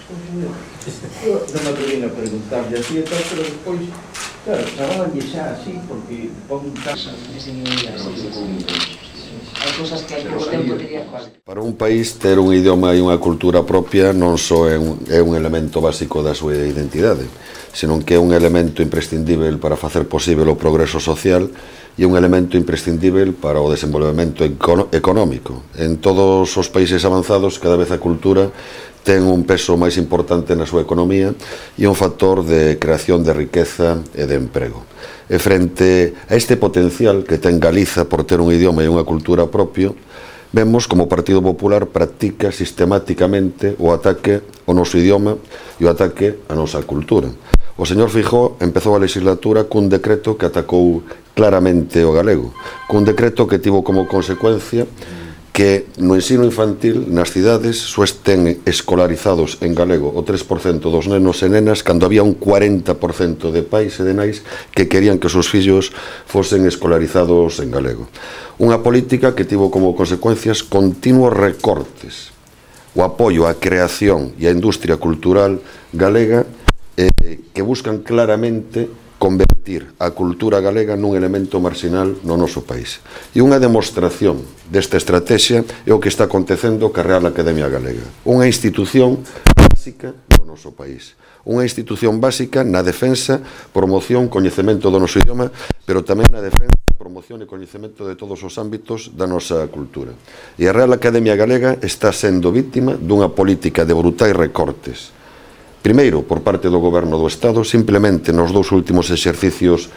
Non me atrevín a preguntarlle así e tal, pero despois, claro, chamabanlle xa así, porque pon un casa. Hai cousas que o tempo diría coas. Para un país ter un idioma e unha cultura propia non só é un elemento básico da súa identidade, senón que é un elemento imprescindível para facer posible o progreso social e un elemento imprescindível para o desenvolvemento económico. En todos os países avanzados, cada vez a cultura ten un peso máis importante na súa economía e un factor de creación de riqueza e de emprego. E frente a este potencial que ten Galiza por ter un idioma e unha cultura propio, vemos como o Partido Popular practica sistemáticamente o ataque ao noso idioma e o ataque á nosa cultura. O señor Feijóo empezou a legislatura cun decreto que atacou claramente o galego, cun decreto que tivo como consecuencia que no ensino infantil nas cidades só estén escolarizados en galego o 3% dos nenos e nenas, cando había un 40% de pais e de nais que querían que os seus fillos fosen escolarizados en galego. Unha política que tivo como consecuencias continuos recortes o apoio á creación e á industria cultural galega que buscan claramente convertir a cultura galega nun elemento marxinal no noso país. E unha demostración desta estrategia é o que está acontecendo ca Real Academia Galega, unha institución básica do noso país, unha institución básica na defensa, promoción, coñecemento do noso idioma, pero tamén na defensa, promoción e coñecemento de todos os ámbitos da nosa cultura. E a Real Academia Galega está sendo vítima dunha política de brutais recortes. Primeiro, por parte do Goberno do Estado, simplemente nos dous últimos exercicios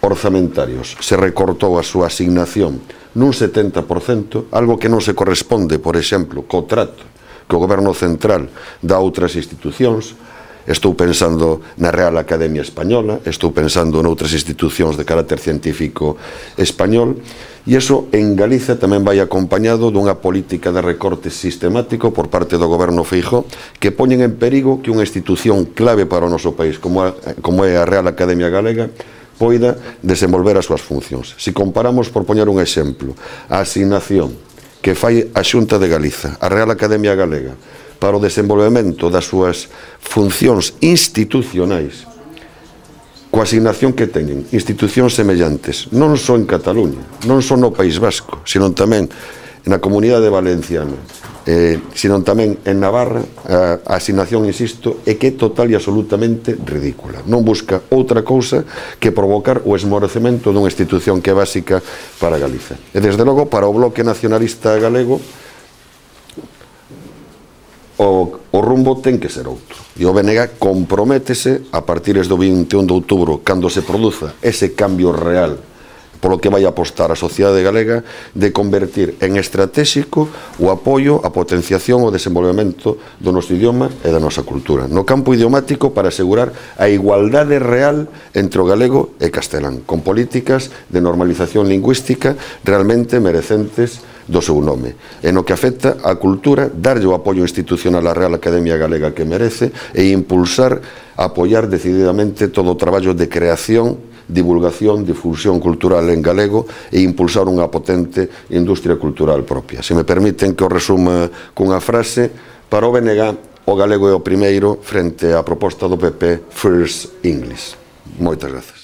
orzamentarios se recortou a súa asignación nun 70%, algo que non se corresponde, por exemplo, co trato que o Goberno Central dá a outras institucións. Estou pensando na Real Academia Española, estou pensando noutras institucións de carácter científico español, e iso en Galiza tamén vai acompañado dunha política de recorte sistemático por parte do Goberno Feijóo que poñen en perigo que unha institución clave para o noso país como é a Real Academia Galega poida desenvolver as súas funcións. Se comparamos, por poñer un exemplo, a asignación que fai a Xunta de Galiza, a Real Academia Galega, para o desenvolvemento das súas funcións institucionais, coa asignación que teñen institucións semellantes, non só en Cataluña, non só no País Vasco, senón tamén na Comunidade Valenciana, senón tamén en Navarra, a asignación, insisto, é que é total e absolutamente ridícula. Non busca outra cousa que provocar o esmorecemento dunha institución que é básica para Galiza. E, desde logo, para o Bloque Nacionalista Galego, o rumbo ten que ser outro. E o BNG comprométese a partir do 21 de outubro, cando se produza ese cambio real polo que vai apostar a sociedade galega, de convertir en estratégico o apoio, a potenciación o desenvolvemento do noso idioma e da nosa cultura, no campo idiomático, para asegurar a igualdade real entre o galego e castelán, con políticas de normalización lingüística realmente merecentes do seu nome. En o que afecta á cultura, darlle o apoio institucional á Real Academia Galega que merece e impulsar, apoiar decididamente todo o traballo de creación, divulgación, difusión cultural en galego e impulsar unha potente industria cultural propia. Se me permiten que o resuma cunha frase, para o BNG o galego é o primeiro frente á proposta do PP First English. Moitas grazas.